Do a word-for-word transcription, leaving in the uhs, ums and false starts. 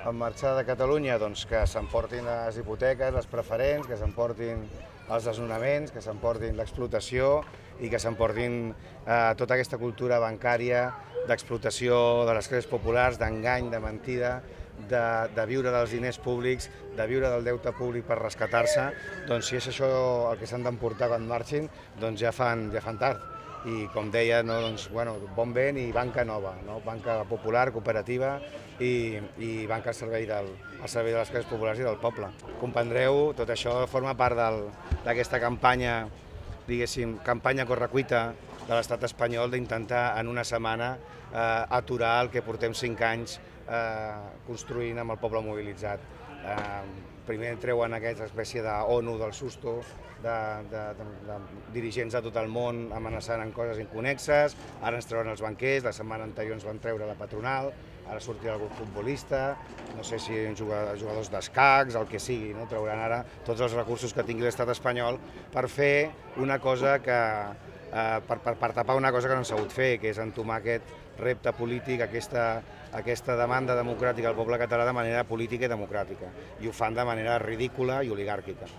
en marxar de Catalunya, doncs que s'emportin les hipoteques, les preferents, que s'emportin els desnonaments, que s'emportin l'explotació i que s'emportin eh, tota aquesta cultura bancària d'explotació de les classes populars, d'engany, de mentida, de, de viure dels diners públics, de viure del deute públic per rescatar-se. Doncs si és això el que s'han d'emportar quan marxin, doncs ja fan, ja fan tard. I com deia, no, doncs, bueno, bon vent i banca nova, no? Banca popular, cooperativa i, i banca al servei, del, al servei de les classes populars i del poble. Comprendreu, tot això forma part d'aquesta campanya, diguéssim, campanya correcuita de l'estat espanyol d'intentar en una setmana eh, aturar el que portem cinc anys eh, construint amb el poble mobilitzat. Eh, primer treuen aquesta espècie d'ONU del susto, de, de, de, de dirigents de tot el món amenaçant amb coses inconexes, ara ens treuen els banquers, la setmana anterior ens van treure la patronal, ara sortirà algun futbolista, no sé si jugadors d'escacs, el que sigui, no? Trauran ara tots els recursos que tingui l'estat espanyol per fer una cosa que, eh, per, per, per tapar una cosa que no han sabut fer, que és entomar aquest repte polític, aquesta, aquesta demanda democràtica al poble català de manera política i democràtica, i ho fan de manera ridícula i oligàrquica.